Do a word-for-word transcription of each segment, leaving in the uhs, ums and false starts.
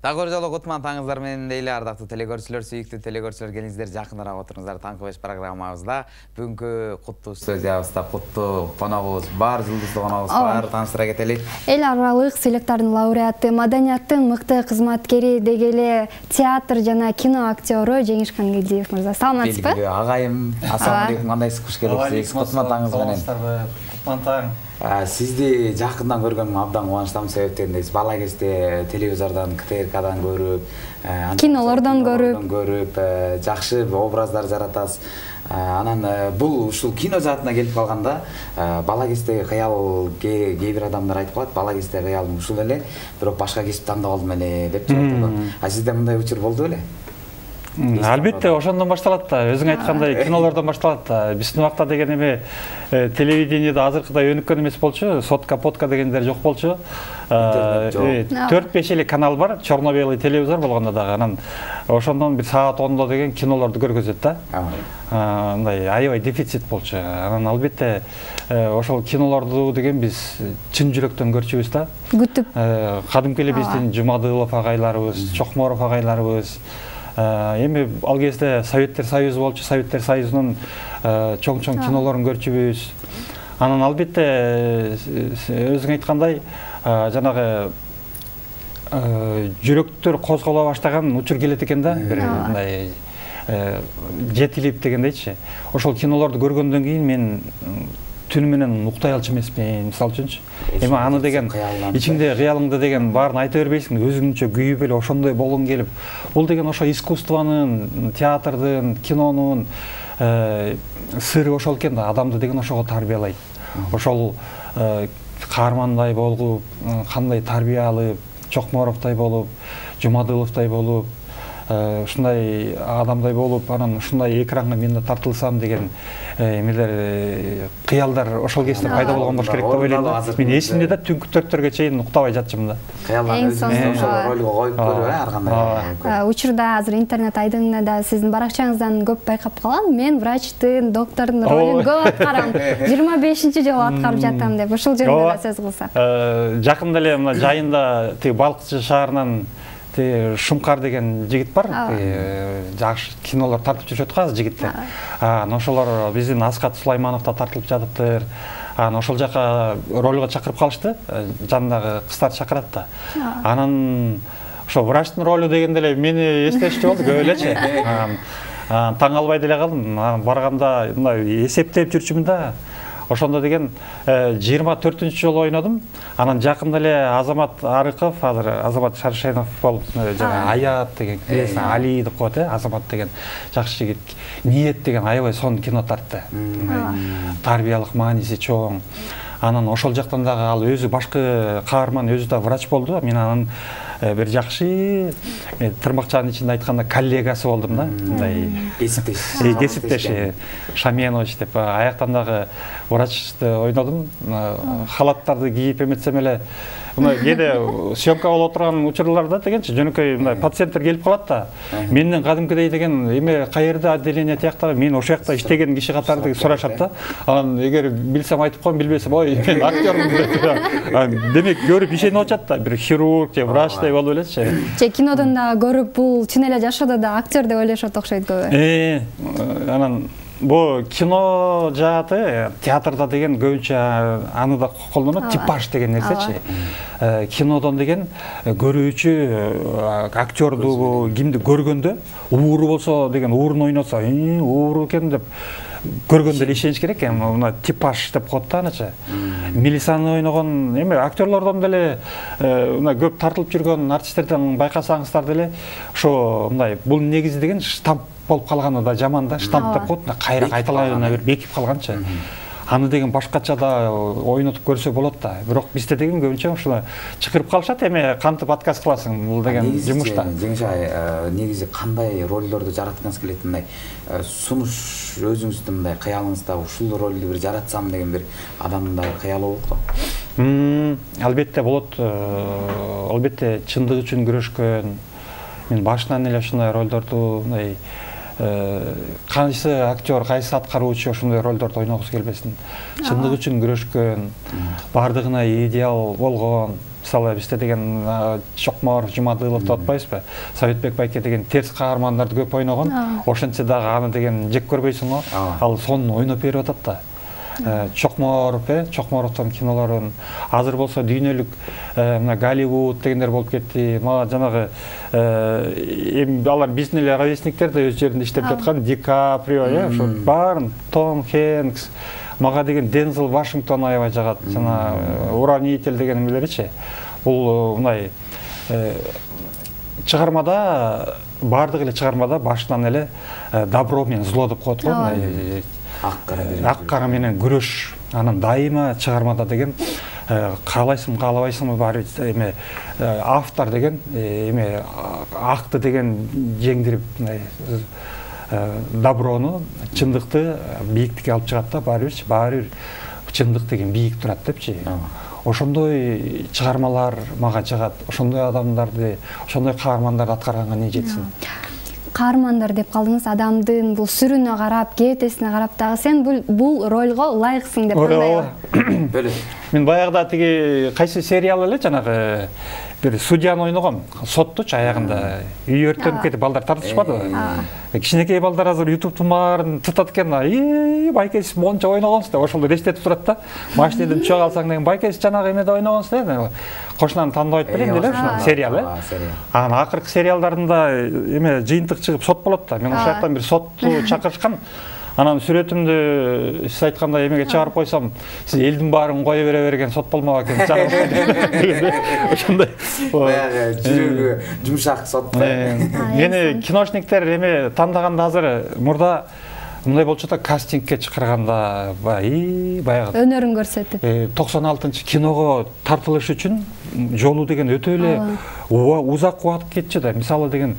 Дагы жолу кутман таңыңыздар менен эле ардактуу телекөрүүчүлөр, сүйүктүү телекөрүүчүлөр, келиңиздер жакыныраак отуруңуздар. Таңкы беш программабызда бүгүнкү куттуу студиябызда куттуу коногубуз бар, жылдыздуу коногубуз бар. Тааныштыра кетели. Эл аралык сыйлыктардын лауреаты, маданияттын мыкты кызматкери, деги эле театр жана кино актёру Жеңиш Кангелдиев мырза. Саламатсызбы? Белгилүү агайым. Ассаламу алейкум, кандайсыз? Куш келипсиз? Кутман таңыңыз менен. Кутман таң. Сизди жакындан көргөнүм абдан кубанычтамын, себептен бала кезде телевизордон, КТРКдан көрүп, кинолордон көрүп, көрүп, жакшы образдар жаратасыз. Анан бул ушул кино жаатына келип калганда, бала кезде кыял, кээ бир адамдар айтып калат, бала кезде кыялым ушул эле, бирок башка кесип тандап алдым эле деп жатат. А сизде мындай учур болду беле? Албетте, ошондон башталат да. Өзүң айткандай кинолордон башталат да. Биздин убакта деген эме телевидениеде азыркыдай өнүккөн эмес болчу, сотка, подка дегендер жок болчу. төрт беш эле канал бар, черно-белый телевизор болгондо дагы. Анан ошондон бир саат ондо деген кинолорду көргөзөт да. Мындай аябай дефицит болчу. Анан албетте ошол кинолорду деген биз чын жүрөктөн көрчүбүз да. Күтүп. Кадимки эле биздин Жумадылов агайларыбыз, Чокморов агайларыбыз. Эми ал кезде Советтер Союзу болчу, Советтер Союзунун чоң-чоң кинолорун көрчүбүз. Анан албетте өзүң айткандай, жанагы жүрөктөр козголо баштаган учур келет экен да, бир мындай жетилип дегендейчи. Ошол кинолорду көргөндөн кийин мен түнү менен уктай алчу эмесмин, мисалы үчүнчү. Эми аны деген ичиңде кыялыңды деген баарын айта бербейсиң, өзүңчө күйүп эле ошондой болгуң келип. Бул деген ошо искусствонун, театрдын, кинонун сыры ошол экен да, адамды деген ошого тарбиялайт. Ошол каармандай болуп, кандай тарбия алып, Чокморовдой болуп, Жумадыловдой болуп, ушундай адамдай болуп, анан ушундай экранга мен да тартылсам деген эмелер, кыялдар ошол кезде пайда болгон болуш керек деп ойлойм да. Мен эсимде да түнкү төрттөргө чейин уктабай жатчымын да. Кыялдан өзүңүздү ошол ролго коюп көрүп, ар кандай. Учурда азыр интернет айдыңында да сиздин баракчаңыздан көп байкап калам. Мен врачтын, доктордун ролун көп аткарам. жыйырма бешинчи жолу аткарып жатам деп ушул жөнүндө да сөз кылсак. Жакында эле мына жайында тиги Балкычы шаарынан Шумкар деген жигит бар, жакшы кинолор тартып жүрүшөт го азыр жигиттер. Анан ошолор биздин Аскат Сулайманов да тартылып жатыптыр. Анан ошол жака ролго чакырып калышты, жанындагы кыздарды чакырат да. Анан ошо врачтын ролу дегенде эле мени эстешти болду көп элечи. Таң албай деле калдым. Барганда мындай эсептеп жүрчүмүн да. Ошондо деген жыйырма төртүнчү жолу ойнодум. Анан жакында эле Азамат Арыков, азыр Азамат Шаршенов болуп, жана Аят деген киресин Али деп коет, Азамат деген жакшы жигит. Ниет деген аябай сонун кино тартты. Тарбиялык мааниси чоң. Анан ошол жактан дагы ал өзү башкы каарман, өзү да врач болду. Мен анын бир жакшы тырмакчанын ичинде айтканда коллегасы болдум да. Мындай кесиптеш. Кесиптеш Шаменович деп аяктан дагы врачты ойнодум. Халаттарды кийип эметсем эле мына кээде съемка болуп турган учурларда дегенчи жөнөкөй мындай пациенттер келип калат да. Менден кадимкидей деген эме каерде отделение тияктагы, мен ошол жакта иштеген киши катары сурашат да. Анан эгер билсем айтып коем, билбесем ой мен актёрмун деп. Демек көрүп ишенип атат да, бир хирург же врачтай болуп элечи. Же кинодон да көрүп бул чын эле жашоодо да актер деп ойлошот окшойт көбү. Э, анан бу кино жааты театрда деген көбүнчө аны да колдонот, типаж деген нерсечи. Кинодон деген көрүүчү актёрду, кимди көргөндө ууру болсо деген уурун ойносо, ууру экен деп көргөндө эле ишениш керек. Мына типаж деп коет да аначы. Милисаны ойногон эме актёрлордон деле мына көп тартылып жүргөн артисттерден байкасаңыздар деле ошо мындай бул негизи деген штамп болуп калганы да жаман да, штамп деп коет, кайра кайталайына бир бекип калганчы. Аны деген башкача да ойнотуп көрсө болот да. Бирок бизде деген көбүнчө ушуну чакырып калышат, эме кантип отказ кыласың бул деген жумушта. Жеңиш ай, негизи кандай ролдорду жараткыңыз келет? Мындай сунуш өзүңүздүн мындай кыялыңызда ушул ролду бир жаратсам деген бир адамдын да кыялы болот го. Албетте болот. Албетте чындык үчүн күрөшкөн. Мен башынан эле ушундай ролдорду мындай кайсы актер, кайсы аткаруучу ошондой ролдорду ойногусу келбесин. Чындык үчүн күрөшкөн, бардыгына идеал болгон, мисалы бизде деген Чокморов, Жумадылов деп атпайбызбы? Советбек байке деген терс каармандарды көп ойногон. Ошентсе дагы аны деген жек көрбөйсүң го. Ал сонун ойноп берип атат да. Чокморов, э, Чокморовдун кинолорун азыр болсо дүйнөлүк мына Голливуд дегендер болуп кетти. Мага жанагы эми алар биздин эле ровесниктер да өз жеринде иштеп жаткан Ди Каприо, э, ошо баарын, Том Хэнкс, мага деген Дензел Вашингтон аябай жагат. Жана Уравнитель деген эмелеричи. Бул мындай чыгармада баардык эле чыгармада башынан эле добро менен зло деп коет го. Ак кара менен күрөш. Анан дайыма чыгармада деген каалайсың, каалабайсыңбы баары эме автор деген эме акты деген жеңдирип доброну, чындыкты бийиктикке алып чыгат да, баары бир, баары бир чындык деген бийик турат депчи. Ошондой чыгармалар мага жагат. Ошондой адамдарды, ошондой каармандарды аткарганга не жетсин. Каармандар деп калдыңыз, адамдын бул сүрүнө карап, кээптесине карап дагы сен бул бул ролго ылайыксың деп кандай? Мен баягыда тиги кайсы сериал эле жанагы бир судьяны ойногом, соттучу аягында үй өрттөнүп кетип балдар тартышпадыбы? Кичинекей балдар азыр ютубтун баарын тытат экен. И байке сиз монча ойногонсуз деп ошол эстетип турат да. Машинеден түшө калсаң деген байке сиз жанагы эмеде ойногонсуз деп. Кошунаны тандабайт белем деле ушул сериал, э? Анан акыркы сериалдарында эме жыйынтык чыгып сот болот да. Мен ошол жактан бир сотту чакырышкан. Анан сүрөтүмдү сиз айткандай эмеге чыгарып койсом, сиз элдин баарын кое бере берген сот болмок экен. Ошондой баягы жүрөгү жумшак сот. Мени киношниктер эме тандаганда азыр мурда мындай болчу да, кастингке чакырганда бай баягы өнөрүн көрсөтүп токсон алтынчы киного тартылыш үчүн жолу деген өтө эле узак убакыт кетчү да. Мисалы деген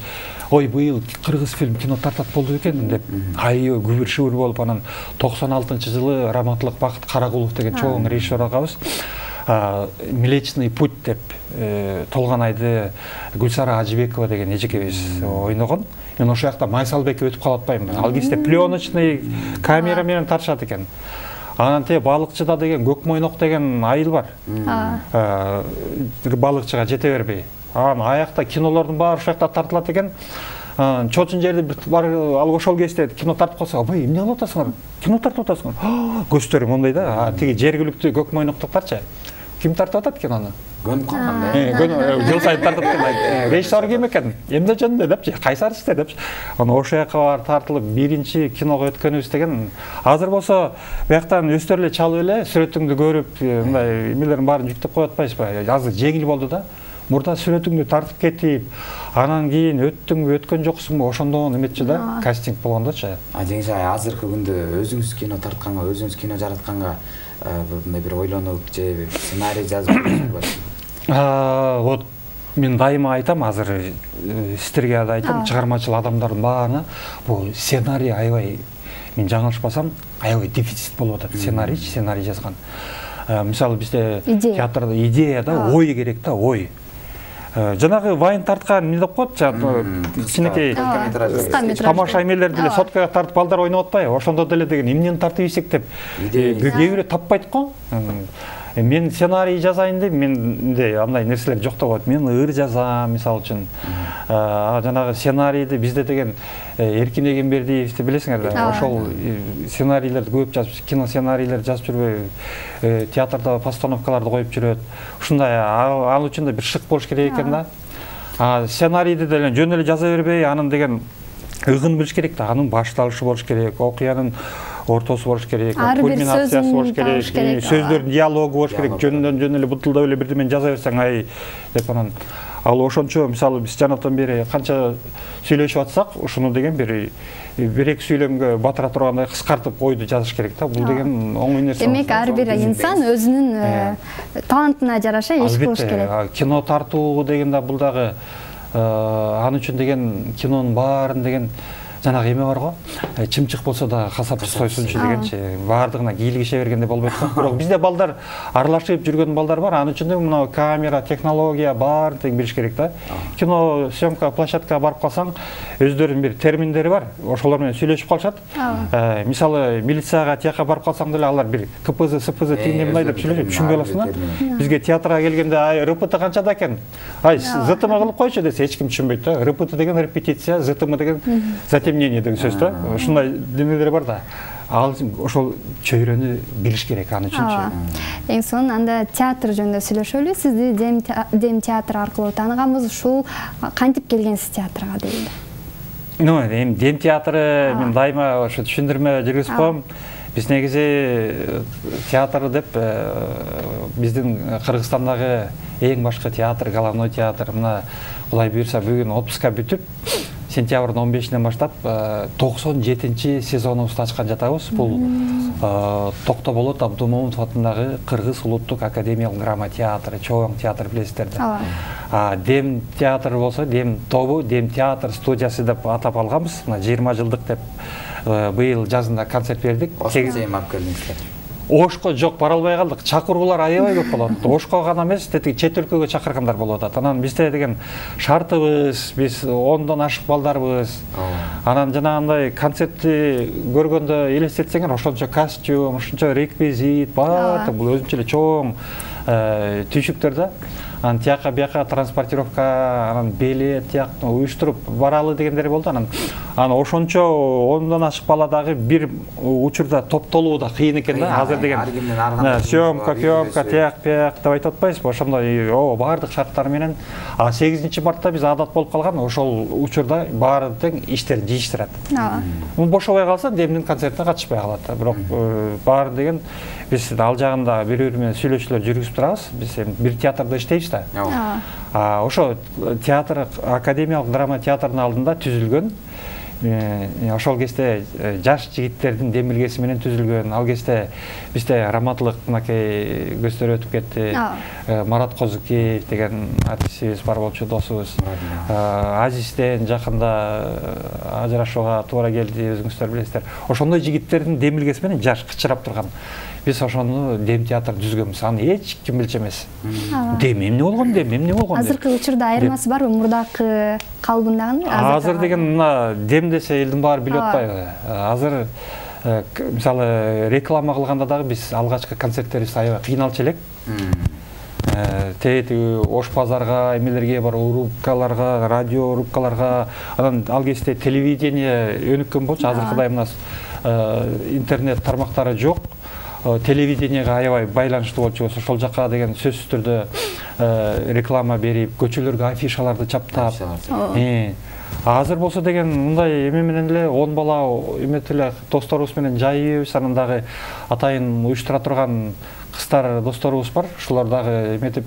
ой быйыл кыргыз фильм кино тартат болду экен деп айы күбүр шүбүр болуп, анан токсон алтынчы жылы Раматылык Бакыт Карагулов деген чоң режиссер агабыз Млечный путь деп Толгонайды Гүлсара Ажибекова деген эжекебиз ойногон. Мен ошол жакта Майсалбекке өтүп калып атпаймынбы. Ал кезде пленочный камера менен тартышат экен. Анан те балыкчыда деген Көкмойнок деген айыл бар. Балыкчыга жете бербей. Анан аякта кинолордун баары ошол жакта тартылат экен. Чоочун жерде бир бар ал ошол кезде кино тартып калса, "Абай, эмне кылып атасыңар? Кино тартып атасыңар?" Көздөрү мондай да. Тиги жергиликтүү Көкмойноктуктарчы. Ким тартып атат кинону? Көнүп калганда. Жыл сайын тартып экен. Режиссер ким экен? Эмне жөнүндө депчи, кайсарысыздар депчи. Анан ошол жака барып тартылып биринчи киного өткөнүбүз деген. Азыр болсо бияктан өстөр эле чалып эле сүрөтүңдү көрүп, мындай эмелердин баарын жүктөп коюп атпайсызбы? Азыр жеңил болду да. Мурда сүрөтүңдү тартып кетип, анан кийин өттүңбү, өткөн жоксуңбу, ошондон эметчи да, кастинг болгондочу. А жеңиш ай, азыркы күндө өзүңүз кино тартканга, өзүңүз кино жаратканга мындай бир ойлонуп же сценарий жазып жүрсүңүзбү? Вот мен дайыма айтам, азыр сиздерге да айтам, чыгармачыл адамдардын баарына бул сценарий аябай, мен жаңылышпасам, аябай дефицит болуп атат. Сценарий, сценарий жазган. Мисалы бизде театрда идея да, ой керек да, ой. Жанагы вайн тарткан эмне деп коет, кичинекей тамаша эмелерди эле соткага тартып балдар ойноп атпайбы? Ошондо деле деген эмнени тартып ийсек деп кээ бирөө таппайт го. Мен сценарий жазайын деп, менде андай нерселер жок деп коет. Мен ыр жазам, мисалы үчүн. Жанагы сценарийди бизде деген Эркин Эгембердиевди билесиңер да, ошол сценарийлерди көп жазып, кино сценарийлерди жазып жүрбөй, театрда постановкаларды коюп жүрөт. Ушундай ал үчүн да бир шык болуш керек экен да. Сценарийди деле жөн эле жаза бербей, анын деген ыгын билиш керек да, анын башталышы болуш керек, окуянын ортосу болуш керек, кульминациясы болуш керек, сөздөрдүн диалогу болуш керек, жөнүндөн жөн эле бутулдап эле бирдемени жаза берсең ай деп анан ал ошончо мисалы биз жанатан бери канча сүйлөшүп атсак, ушуну деген бир бир эки сүйлөмгө батыра тургандай кыскартып ойду жазыш керек да. Бул деген оңой нерсе. Демек ар бир инсан өзүнүн талантына жараша иш кылыш керек. Кино тартуу деген да бул дагы ал үчүн деген кинонун баарын деген жанагы эме бар го, чымчык болсо да касапчы сойсунчу дегенчи, баардыгына кийлигише бергенде болбойт го. Бирок бизде балдар аралашып жүргөн балдар бар. Анын үчүн мына камера, технология бар тең билиш керек да. Кино съемка площадкага барып калсаң, өздөрүнүн бир терминдери бар. Ошолор менен сүйлөшүп калышат. Мисалы, милицияга тияка барып калсаң деле алар бир КПЗ, СПЗ тигине мындай деп сүйлөшөт, түшүнбөй каласың да. Бизге театрга келгенде ай РПТ канчада экен? Ай ЗТМ кылып койчу десе эч ким түшүнбөйт да. РПТ деген репетиция, ЗТМ деген затемнение деген сөз да. Ушундай демелер бар да. Ал ошол чөйрөнү билиш керек аны үчүнчү. Эң сонун анда театр жөнүндө сүйлөшөлү. Сизди Дем театр аркылуу тааныганбыз. Ушул кантип келгенсиз театрга дейли? Ну, эми Дем театры мен дайыма ошо түшүндүрмө жүргүзүп коем. Биз негизи театр деп биздин Кыргызстандагы эң башкы театр, головной театр, мына Кудай буйрса бүгүн отпуска бүтүп, сентябрдын он бешинен баштап токсон жетинчи сезонубузду ачкан жатабыз. Бул Токтоболот Абдумомунов атындагы Кыргыз улуттук академиялык драма театры, чоң театр билесиздер да. Дем театр болсо, Дем тобу, Дем театр студиясы деп атап алганбыз. Мына жыйырма жылдык деп быйыл жазында концерт бердик. Осуна алып келдиңиздер. Ошко жок, бара албай калдык. Чакыруулар аябай көп болот. Ошко гана эмес, тетиги чет өлкөгө чакыргандар болуп атат. Анан бизде деген шартыбыз, биз ондон ашык балдарбыз. Анан жанагындай концертти көргөндө элестетсеңер, ошончо костюм, ошончо реквизит, баардык бул өзүнчө эле чоң түйшүктөр да. Анан тияка бияка транспортировка, анан билет тияктан уюштуруп баралы дегендер болду. Анан анан ошончо ондон ашык бала дагы бир учурда топтолуу да кыйын экен да. Азыр деген съемка, съемка, тияк, бияк деп айтып атпайсызбы? Ошондой о баардык шарттар менен а сегизинчи мартта биз адат болуп калган. Ошол учурда баары тең иштерин жыйыштырат. Мун бошобой калса Демдин концертине катышпай калат да. Бирок баары деген биз ал жагында бири-бири менен сүйлөшүүлөр жүргүзүп турабыз. Биз бир театрда иштейбиз да. Ошо театр, академиялык драма театрдын алдында түзүлгөн. Ошол кезде жаш жигиттердин демилгеси менен түзүлгөн. Ал кезде бизде раматтылык мынакей көздөр өтүп кетти. Марат Козукеев деген артистибиз бар болчу, досубуз. Азизден жакында ажырашууга туура келди, өзүңүздөр билесиздер. Ошондой жигиттердин демилгеси менен жаш кычырап турган. Биз ошону Дем театр түзгөнбүз. Аны эч ким билчү эмес. Дем эмне болгон, Дем эмне болгон деп. Азыркы учурда айырмасы барбы мурдакы калыбындагы? Азыр деген мына Дем десе элдин баары билип атпайбы? Азыр мисалы реклама кылганда дагы биз алгачкы концерттерибиз аябай кыйналчу элек. Тетиги Ош базарга, эмелерге бар, рубкаларга, радио рубкаларга, анан ал кезде телевидение өнүккөн болчу. Азыркыдай мына интернет тармактары жок. Телевидениеге аябай байланыштуу болчу. Ошол жака деген сөзсүз түрдө реклама берип, көчөлөргө афишаларды чаптап. Азыр болсо деген мындай эме менен эле он бала эметип эле досторубуз менен жайыбыз, анан дагы атайын уюштура турган кыздар досторубуз бар. Ушулар дагы эметип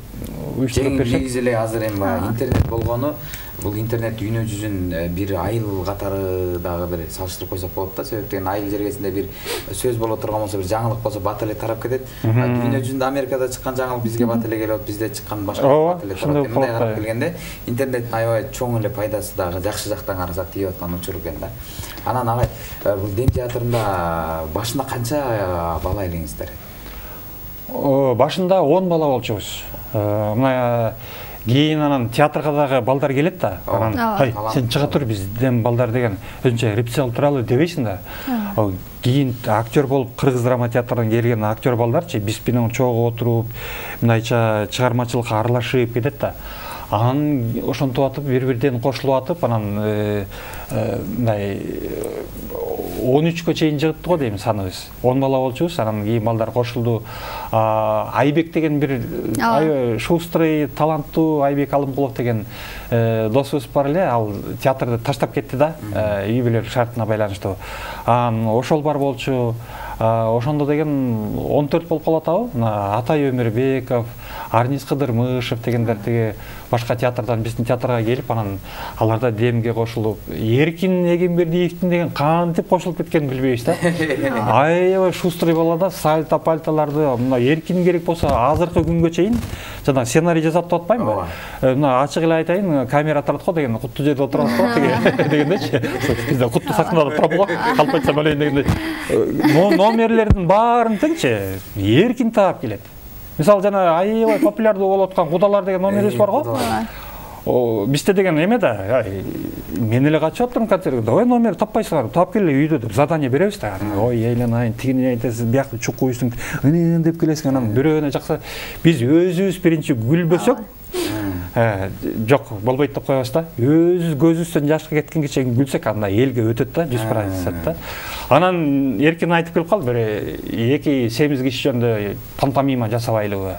уюштуруп беришет. Негизи эле азыр эми интернет болгону, бул интернет дүйнө жүзүн бир айыл катары дагы бир салыштырып койсок болот да. Себептен айыл жергесинде бир сөз боло турган болсо, бир жаңылык болсо бат эле тарап кетет. Дүйнө жүзүндө Америкада чыккан жаңылык бизге бат эле келип, бизде чыккан башка бат эле тарап кетет. Мындай карап келгенде интернеттин аябай чоң эле пайдасы дагы жакшы жактан карасак тийип аткан учур экен да. Анан агай бул Дем театрында башында канча бала элеңиздер? Башында он бала болчубуз. Мына кийин анан театрга дагы балдар келет да. Анан ай сен чыга тур, биз Дем балдар деген өзүнчө репетиция кылып туралы дебейсиң да. Кийин актер болуп Кыргыз драма театрынан келген актер балдарчы биз менен чогуу отуруп, мындайча чыгармачылыкка аралашып кетет да. Анан ошентип атып бири-бирден кошулуп атып, анан мындай он үчкө чейин жыгыпты го дейм саныбыз. он бала болчубуз, анан кийин балдар кошулду. Айбек деген бир шустрый, таланттуу Айбек Алымкулов деген досубуз бар эле, ал театрды таштап кетти да, үй бүлөлүк шартына байланыштуу. Анан ошол бар болчу. ошондо деген он төрт болуп калып атабы. Мына Атай Өмүрбеков, Арниз Кыдырмышев дегендер тиги башка театрдан биздин театрга келип, анан аларда демге кошулуп, Эркин Эгембердиевдин деген кантип кошулуп кеткенин билбейбиз да. Аябай шустрый бала да, сальто пальтоларды мына Эркин керек болсо азыркы күнгө чейин жана сценарий жасап деп атпаймынбы? Мына ачык эле айтайын, камера турат го деген, куттуу жерде отурат го дегендечи. Бизде куттуу сахнада турат го, калп айтсам элейин дегенде. Номерлердин баарын тыңчы, Эркин таап келет. Мисалы жана аябай популярдуу болуп аткан Кудалар деген номерибиз бар го. Бизде деген эме да, мен эле качып атырмын концертке, давай номер таппайсыңар, таап келе үйдө деп задание беребиз да. Ой, эйланайын, тигини айтасыз, биякты чукуйсуң, ынын деп келесиң, анан бирөөнө жакса биз өзүбүз биринчи күлбөсөк, жок, болбойт деп коебуз да. Өзүбүз көзүбүздөн жашка кеткенге чейин күлсөк, анда элге өтөт да, жүз пайыз да. Анан Эркин айтып келип калды, бир эки семиз киши жөнүндө пантомима жасабайлыбы.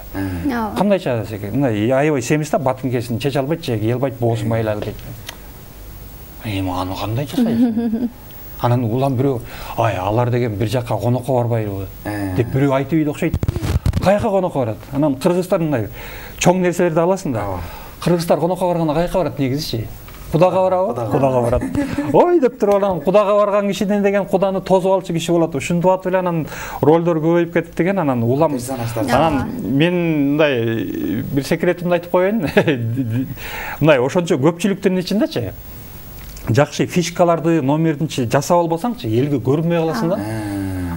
Кандайча десек, мындай аябай семиз да, батынкесин чече албайт же, кие албайт, боосун байлады дейт. Эми аны кандай жасайсың? Анан улам бирөө, ай, алар деген бир жакка конокко барбайлыбы деп бирөө айтып ийди окшойт. Каяка конокко барат? Анан кыргыздар мындай чоң нерселерди аласың да. Кыргыздар конокко барганда каяка барат негизичи? Кудага барабы? Кудага барат. Ой деп туруп анан кудага барган кишиден деген куданы тозуп алчу киши болот. Ушинтип атып эле анан ролдор көбөйүп кетип деген, анан улам. Анан мен мындай бир секретимди айтып коеюн. Мындай ошончо көпчүлүктүн ичиндечи жакшы фишкаларды, номердинчи жасап албасаңчы, элге көрүнбөй каласың да.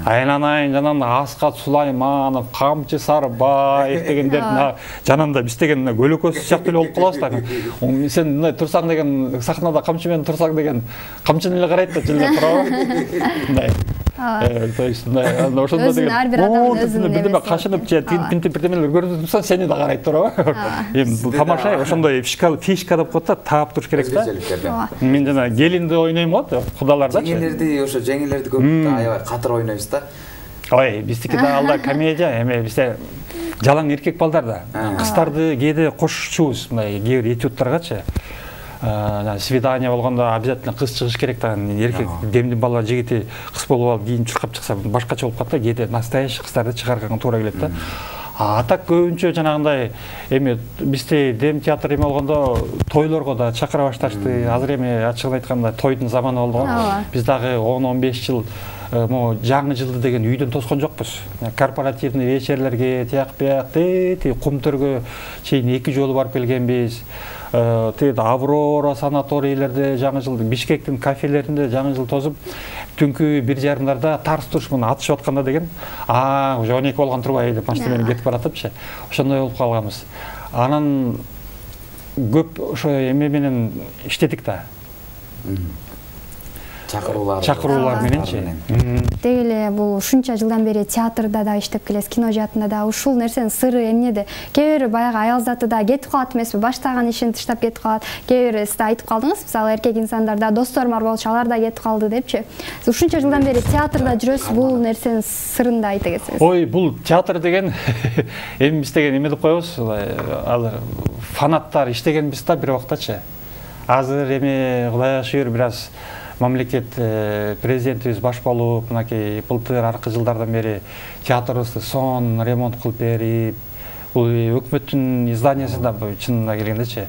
Айланайын жанагындай Аскат Сулайманов, Камчы Сарбаев дегендердин жанында биз деген көлөкөсү сыяктуу эле болуп калабыз да. Сен мындай турсаң деген, сахнада камчы менен турсаң деген камчыны эле карайт да, жылда турабы. Мындай. То есть ошондо деген ар бир адамдын өзүнүн бирдеме кашынып же тинтип бирдемелер көрүнүп турса, сени да карайт турабы. Эми бул тамаша, ошондой фишка деп коет да, таап туруш керек да. Мен жана келинди ойнойм го, Кудалардачы. Жеңилерди, ошо жеңилерди көп аябай катыр ойнойбуз да. Ой, биздики да алда комедия, эме бизде жалаң эркек балдар да. Кыздарды кээде кошчубуз, мындай кээ бир этюдтаргачы. Свидание болгондо обязательно кыз чыгыш керек да. Эркек демди бала жигити кыз болуп алып кийин чуркап чыкса башкача болуп калат да. Кээде настоящий кыздарды чыгарганга туура келет да. А так көбүнчө жанагындай эми бизде дем театр эме болгондо тойлорго да чакыра башташты. Азыр эми ачыгын айтканда тойдун заманы болду го. Биз дагы он он беш жыл могу жаңы жылды деген үйдөн тоскон жокпуз. Корпоративный вечерлерге, тияк бияк, тети кумтөргө чейин эки жолу барып келгенбиз. Тиги Аврора санаторийлерде жаңы жылды, Бишкектин кафелеринде жаңы жыл тозуп, түнкү бир жарымдарда тарс туруш муну атышып атканда деген, а уже он эки болгон турбай деп машина менен кетип баратыпчы. Ошондой болуп калганбыз. Анан көп ошо эме менен иштедик да. Чакыруулар. Чакыруулар мененчи. Деги эле бул ушунча жылдан бери театрда да иштеп келесиз, кино жаатында да. Ушул нерсенин сыры эмнеде? Кээ бир баягы аял заты да кетип калат эмеспи? Баштаган ишин таштап кетип калат. Кээ бир сиз да айтып калдыңыз, мисалы эркек инсандарда досторум бар болчу, алар да кетип калды депчи. Сиз ушунча жылдан бери театрда жүрөсүз, бул нерсенин сырын да айта кетсеңиз. Ой, бул театр деген эми биз деген эме деп коебуз, ал фанаттар иштегенбиз да бир убактачы. Азыр эми Кудайга шүгүр бир аз мамлекет президентибиз баш болуп, мынакей былтыр аркы жылдардан бери театрыбызды сон ремонт кылып берип, бул өкмөттүн изданиясында чынына келгендечи,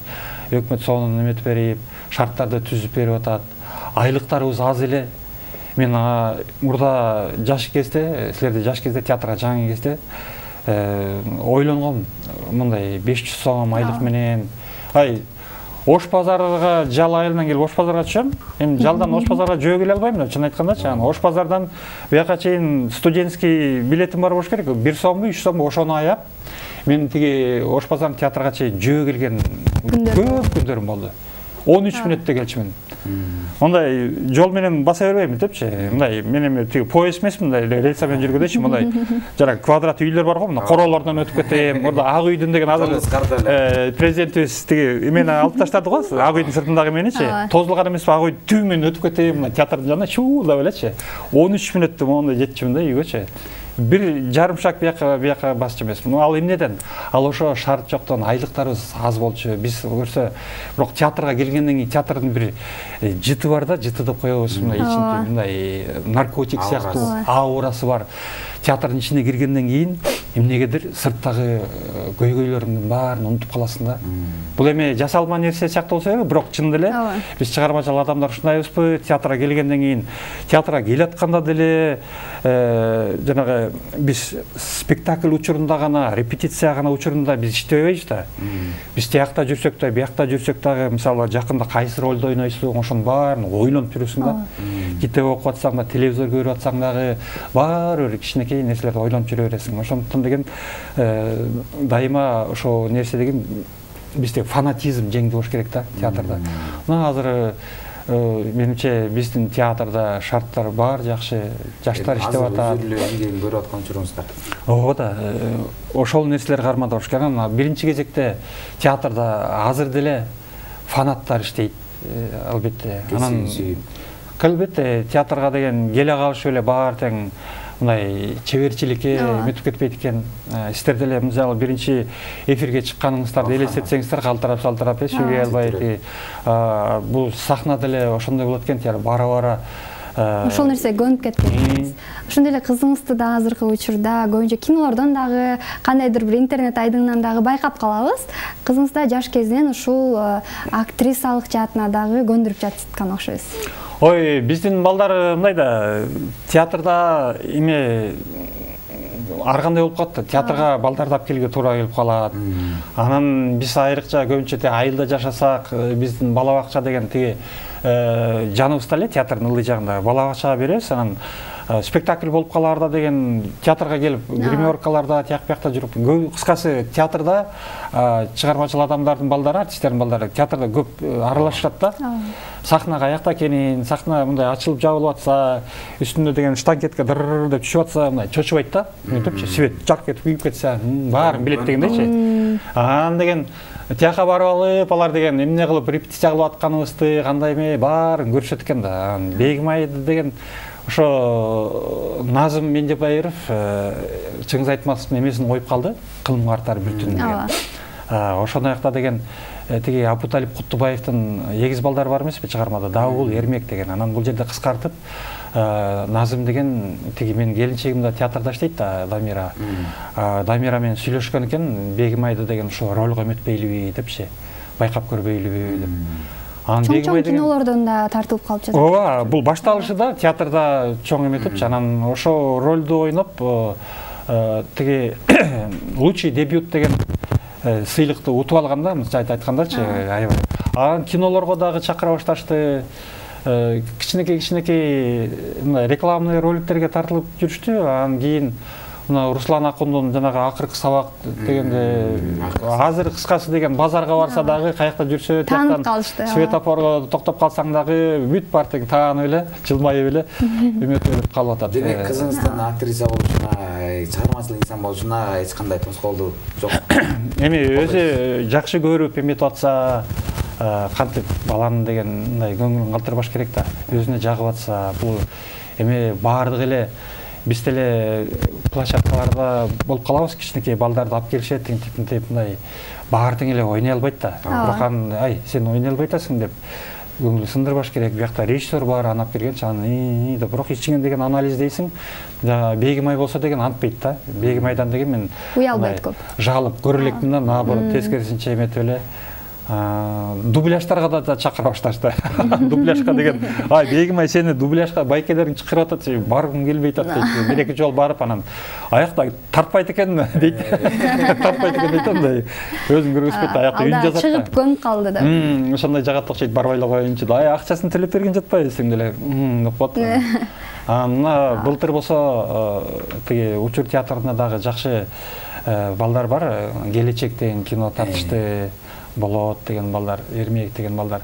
өкмөт сонун эметип берип, шарттарды түзүп берип атат. Айлыктарыбыз аз эле. Мен мурда жаш кезде, силерде жаш кезде театрга жаңы кезде ойлонгом, мындай беш жүз сом айлык менен. Ай, Ош базарга жал айылынан келип Ош базарга түшөм. Эми жалдан Ош базарга жөө келе албайм, чын айткандачы. Ош базардан бияка чейин студентский билетим бар болуш керек. бир сомбу, үч сомбу ошону аяп, мен тиги Ош базарынын театрга чейин жөө келген көп күндөрүм болду. он үч мүнөттө келчүмүн. Мындай жол менен баса бербейм депчи. Мындай мен эми тиги поезд эмес, мындай рельса менен жүргөндөчү, мындай жана квадрат үйлөр бар го, мына королордон өтүп кетем. Орда Ак үйдүн деген азыр президентибиз тиги эмени алып таштады го, Ак үйдүн сыртындагы эменичи. Тозулган эмеспи, Ак үй түү менен өтүп кетем, мына театрдын жанына чуулап элечи. он үч мүнөттө моундай жетчүмүн да үйгөчү. бир жарым шаг бияка бияка басчу эмес. Ал эмнеден? Ал ошо шарт жоктон айлыктарыбыз аз болчу. Биз көрсө, бирок театрга келгенден кийин театрдын бир жыты бар да, жыты деп коебуз, мындай ичинде мындай наркотик сыяктуу аурасы бар. Театрдын ичине киргенден кийин эмнегедир сырттагы көйгөйлөрүңдүн баарын унутуп каласың да. Бул эми жасалма нерсе сыяктуу болсо керек, бирок чын деле биз чыгармачыл адамдар ушундайбызбы? Театрга келгенден кийин, театрга келатканда деле жанагы биз спектакль учурунда гана, репетиция гана учурунда биз иштебейбиз да. Биз тиякта жүрсөк да, биякта жүрсөк дагы, мисалы жакында кайсы ролду ойнойсуң, ошонун баарын ойлонуп жүрөсүң да. Китеп окуп атсаң да, телевизор көрүп атсаң дагы баары бир кичинекей нерселерди ойлонуп жүрө бересиң. Ошондуктан деген дайыма ошо нерсе деген бизде фанатизм жеңди болуш керек да театрда. Мына азыр менимче биздин театрда шарттар бар, жакшы, жаштар иштеп атат. Азыр өзүрлүү эмгегин көрүп аткан учуруңузда. Ооба да, ошол нерселер кармандап болуш керек. Анан биринчи кезекте театрда азыр деле фанаттар иштейт, албетте. Анан албетте театрга деген келе калышы эле баары тең мындай чеберчиликке өтүп кетпейт экен. Сиздер деле мисалы биринчи эфирге чыкканыңыздарды элестетсеңиздер, калтырап-шалтырап сүйлөй албай, бул сахна деле ошондой болот экен, бара-бара ошол нерсе көнүп кеткен. Ошондой эле кызыңызды да азыркы учурда көбүнчө кинолордон дагы, кандайдыр бир интернет айдыңынан дагы байкап калабыз. Кызыңыз да жаш кезинен ушул актрисалык жаатына дагы көндүрүп жаткан окшойбуз. Ой, биздин балдар мындай да, театрда эме ар кандай болуп калат да, театрга балдарды алып келүүгө туура келип калат. Анан биз айрыкча көбүнчө айылда жашасак, биздин бала бакча деген тиги жаныбызда эле театрдын ылдый жагында бала бакчага беребиз, анан спектакль болуп калаарда деген театрга келип, гримеркаларда, тияк биякта жүрүп, кыскасы театрда чыгармачыл адамдардын балдары, артисттердин балдары театрда көп аралашышат да. Сахнага аякта экенин, сахна мындай ачылып жабылып атса, үстүндө деген штанкетке дыр деп түшүп атса, мындай чочубайт да. Мынтипчи свет жарк этип күйүп кетсе, баарын билет дегендейчи. Анан деген тияка барып алып, алар деген эмне кылып репетиция кылып атканыбызды, кандай эме баарын көрүшөт экен да. Бегимай деген ошо Назым Мендебаев чыңыз айтмасовдун эмесин коюп калды, кылым картары бүтүн деген. Ошондой акта деген тиги Абуталип Куттубаевдин эгиз балдары бар эмеспи чыгармада, Дабыл, Эрмек деген. Анан бул жерде кыскартып Назым деген тиги менин келинчегим да театрда иштейт да, Дамира. Дамира менен сүйлөшкөн экен, Бегимайды деген ошо ролго эметпейлиби депчи, байкап көрбөйлүбү деп. Чоң-чоң кинолордон да тартылып калып жатат. Ооба, бул башталышы да театрда чоң эметипчи, анан ошо ролду ойноп тиги лучший дебют деген сыйлыкты утуп алганда, мынча айткандачы, аябай. Анан кинолорго дагы чакыра башташты. Кичинекей-кичинекей мындай рекламный роликтерге тартылып жүрүштү. Анан кийин мына Руслан Акундун жанагы акыркы сабак дегенде азыр кыскасы деген базарга барса дагы, каякта жүрсө, таанып калышты. Светофорго токтоп калсаң дагы бүт бар тең таанып эле, жылмайып эле эметип калып атат. Демек кызыңыздын актриса болушуна, чыгармачыл инсан болушуна эч кандай тоскоолдуу жок. Эми өзү жакшы көрүп эметип атса, кантип баланын деген мындай көңүлүн калтырбаш керек да. Өзүнө жагып атса, бул эми баардык эле биз деле площадкаларда болуп калабыз, кичинекей балдарды алып келишет, тинтип мындай баары тең эле ойной албайт да. Бирок анан ай, сен ойной албай атасың деп көңүл сындырбаш керек. Биякта режиссер бар, аны алып келгенчи анан деп, бирок ичиңен деген анализдейсиң. Бегимай болсо деген антпайт да. Бегимайдан деген мен уялбайт көп. Жалып көрө элекмин да, наоборот тескерисинче эметип эле. Дубляждарга да чакыра башташты. Дубляжга деген, ай, Бегимай сени дубляжга байкелериң чакырып атат, баргым келбей атат дейт. Бир эки жол барып анан аякта тартпайт экен дейт. Тартпайт экен дейт андай. Өзүн көргөзбөйт, аякта үн жазат. Чыгып көнүп калды да. Ошондой жагат окшойт, барбай эле коеюнчу да. Ай, акчасын төлөп берген жатпайбысың деле. Деп коет. Анан былтыр болсо тиги Учур театрында дагы жакшы балдар бар. Келечек деген кино тартышты. Болот деген балдар, Эрмек деген балдар.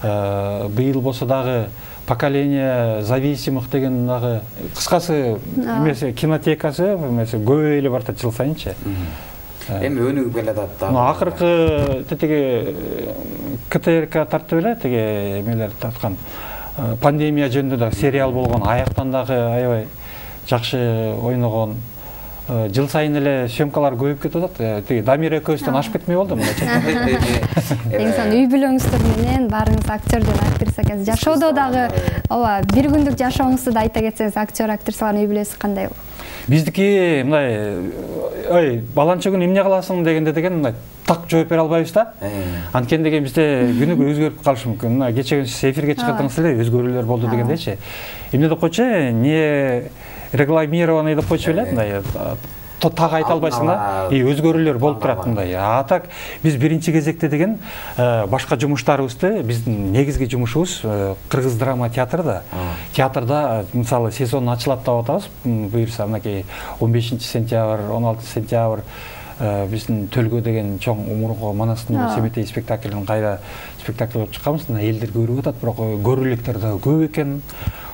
Быйыл болсо дагы поколение зависимых деген дагы кыскасы эмеси кинотекасы эмеси көп эле бар да жыл сайынчы. Эми өнүгүп келатат да. Акыркы тиги КТРК тартып эле тиги эмелер тарткан. Пандемия жөнүндө да сериал болгон, аяктан дагы аябай жакшы ойногон. Жыл сайын эле съемкалар көбөйүп кетип атат. Тиги Дамир экөөбүздөн ашып кетмей болду мындайча. Эң сонун үй бүлөңүздөр менен баарыңыз актер жана актриса экенсиз. Жашоодо дагы ооба бир күндүк жашооңузду да айта кетсеңиз, актер актрисалардын үй бүлөсү кандай болот? Биздики мындай ой баланча күн эмне кыласың дегенде деген мындай так жооп бере албайбыз да. Анткени деген бизде күнүгө өзгөрүп калышы мүмкүн. Мына кече сиз эфирге чыгардыңыз эле, өзгөрүүлөр болду дегендейчи. Эмне деп койчу, не регламированный деп койчу эле, мындай так айта албайсың да, и өзгөрүүлөр болуп турат мындай. А так биз биринчи кезекте деген башка жумуштарыбызды, биздин негизги жумушубуз кыргыз драма театры да. Театрда мисалы сезон ачылат деп атабыз. Буюрса мынакей он бешинчи сентябрь, он алтынчы сентябрь биздин Төлгө деген чоң умурго Манастын Семетей спектаклин кайра спектакль болуп чыкканбыз. Элдер көрүп атат, бирок көрүүлүктөр да көп экен.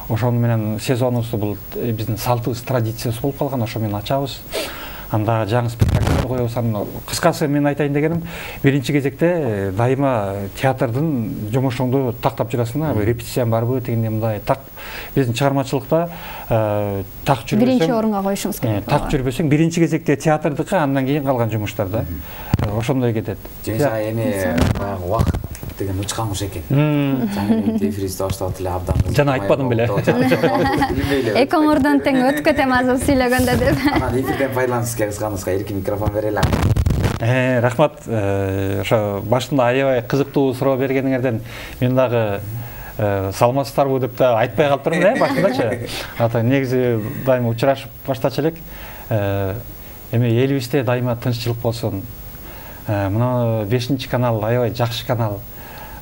Ошону менен сезонубузду бул биздин салтыбыз, традициясы болуп калган, ошо менен ачабыз. Анда жаңы спектакльдер коебуз. Кыскасы мен айтайын дегеним, биринчи кезекте дайыма театрдын жумушуңду тактап жүрөсүң да, репетицияң барбы дегенде мындай так биздин чыгармачылыкта так жүрбөсөң, биринчи орунга коюшуңуз керек. Так жүрбөсөң, биринчи кезекте театрдыкы, андан кийин калган жумуштар да. Ошондой кетет. Жеңса эми баягы убакыт деген учкан куш экен. Жаңы эфирибизди баштап эле абдан. Жана айтпадым беле. Эки оңордон тең өтүп кетем азыр сүйлөгөндө деп. Анан эфирден пайдаланышка кысканыбызга эркин микрофон берели. Э, рахмат. Ошо башында аябай кызыктуу суроо бергениңерден мен дагы саламатсыздарбы деп да айтпай калыптырмын да башындачы. Ата негизи дайыма учурашып баштачу элек. Эми элибизде дайыма тынччылык болсун. Мына бешинчи канал аябай жакшы канал.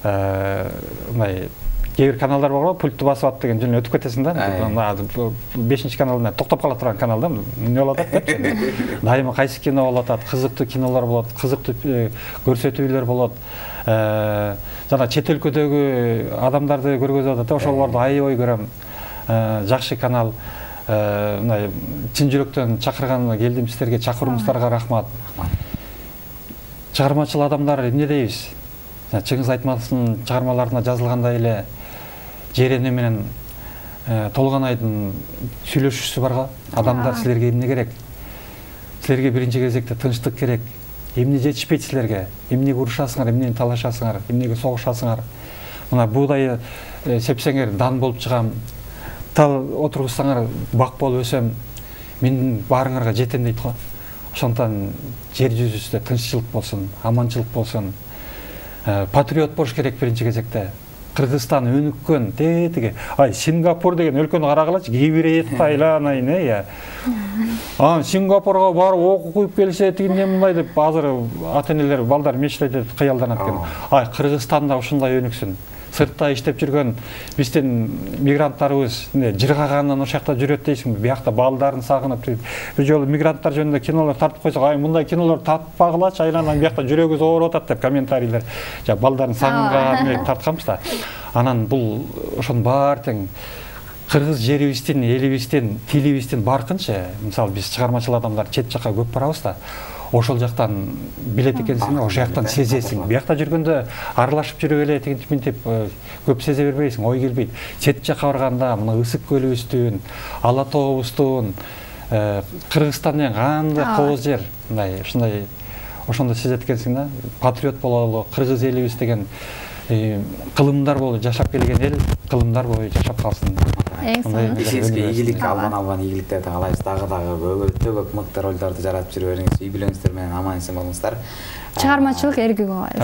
Мындай кээ бир каналдар бар го, пультты басып ат деген жөн өтүп кетесиң да. бешинчи каналда токтоп кала турган канал да. Эмне болуп атат деп. Дайыма кайсы кино болуп атат, кызыктуу кинолор болот, кызыктуу көрсөтүүлөр болот. Жана чет өлкөдөгү адамдарды көргөзүп атат. Ошолорду аябай көрөм. Жакшы канал. Мындай чын жүрөктөн чакырган келдим сиздерге, чакырууңуздарга рахмат. Чыгармачыл адамдар эмне дейбиз? Чыңгыз Айтматовдун чыгармаларына жазылгандай эле Жерене менен Толгонайдын сүйлөшүүсү барга. Адамдар силерге эмне керек? Силерге биринчи кезекте тынчтык керек. Эмне жетишпейт силерге? Эмнеге урушасыңар, эмнени талашасыңар, эмнеге согушасыңар? Мына буудай сепсеңер дан болуп чыгам. Тал отургузсаңар бак болуп өсөм. Мен баарыңарга жетем дейт го. Ошондон жер жүзүндө тынччылык болсун, аманчылык болсун. Патриот болуш керек биринчи кезекте. Кыргызстан өнүккөн, тетиги. Ай, Сингапур деген өлкөнү карагылачы, Кибирет, Таиланд, айне. А, Сингапурга барып окуп келсе, тигине мындай деп азыр ата-энелер, балдар мечтейт, кыялданат экен. Ай, Кыргызстанда ушундай өнүксүн. Сыртта иштеп жүргөн биздин мигранттарыбыз жыргагандан ошакта жүрөт дейсиңби? Биякта балдарын сагынып, бир жолу мигранттар жөнүндө кинолор тартып койсок, ай мындай кинолор тартпагылачы, айланан биякта жүрөгүбүз ооруп атат деп комментарийлер. Жа балдарын сагынганга тартканбыз да. Анан бул ошонун баары тең кыргыз жерибиздин, элибиздин, тилибиздин баркынча, мисалы биз чыгармачыл адамдар чет жакка көп барабыз да. Ошол жактан билет экенсиң, ошол жактан сезесиң. Биякта жүргөндө аралашып жүрүп эле тигинтип минтип көп сезе бербейсиң, ой келбейт. Чет жакка барганда мына Ысык көлүбүздүн, Ала тообуздун, Кыргызстандын кандай кооз жер, мындай ушундай ошондо сезет экенсиң да. Патриот бололу, кыргыз элибиз деген кылымдар болуп жашап келген эл, кылымдар боюнча жашап калсын. Сизге ийгилик, албан албан ийгиликтерди каалайбыз. Дагы дагы өтө көп мыкты ролдорду жаратып жүрө бериңиз. Үй бүлөңүздөр менен аман эсен болуңуздар. Чыгармачылык эргүү каалайбыз.